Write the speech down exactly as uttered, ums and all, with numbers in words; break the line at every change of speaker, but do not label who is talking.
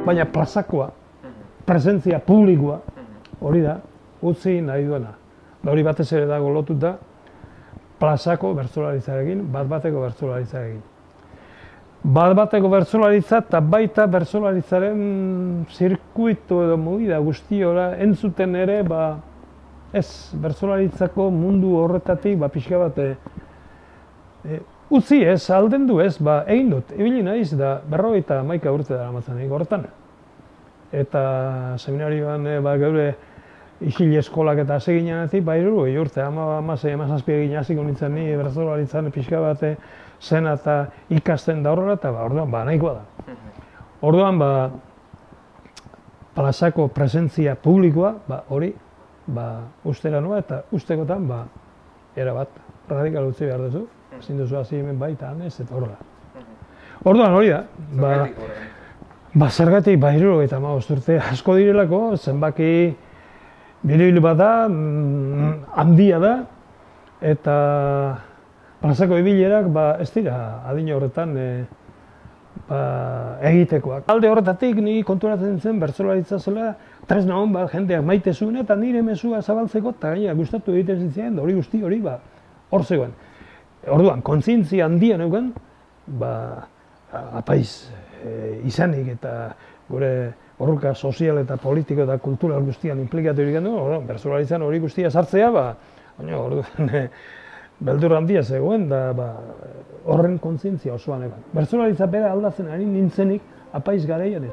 baina plazakoa, presentzia publikoa, hori da, utzi nahi duena. Hori batez ere dago lotuta, plazako bertsolaritzarekin, bat-bateko bertsolaritzarekin. Bat-bateko bertsolaritza eta baita bertsolaritzaren zirkuitu edo movida guztiora entzuten ere, ba, ez, bertsolaritzako mundu horretatik, ba, pixka bat, e, utzi ez, alden du ez, ba, egin dut, ibili naiz, da, berrogeita hamaika urte dara matzanik horretan. Eta seminarioan, e, ba, geure isil eskolak eta hasi ginenetik, ba, hirurogei urte, hamasei, hamazazpi egin hasiko nintzen ni bertsolaritzan pixka bat zena eta ikasten da horrela, eta ba, orduan, ba, nahikoa da. Orduan, ba, plazako presentzia publikoa, ba, hori, ba, ustera noa, eta ustekotan, ba, erabat, radikal utzi behar duzu, ezin duzu hasi hemen baita, hanez, eta horrela. Orduan, hori da, ba, ba, zergatik, ba, hirurogeita hamabost urte asko direlako, zenbaki biribil bat da, handia da, eta plazako ibilerak, ba, ez dira, adina horretan, e, ba, egitekoak. Alde horretatik, ni konturatzen zen, bertsolaritza zela, tresna hon bat jendeak maite zuen, eta nire mezua zabaltzeko, eta gaina gustatu egiten zitzen, hori guzti hori, ba, hor zegoen. Orduan, kontzientzia handia neuken, ba, apaiz e, izanik eta gure borroka sozial eta politiko eta kultural guztian implikatu egiten du, bertsolaritzan hori guztia sartzea, ba, orduan, beldur handia zegoen, da, ba, horren kontzientzia osoan egon. Bertsolaritza bera aldatzen ari nintzenik apaiz garaian.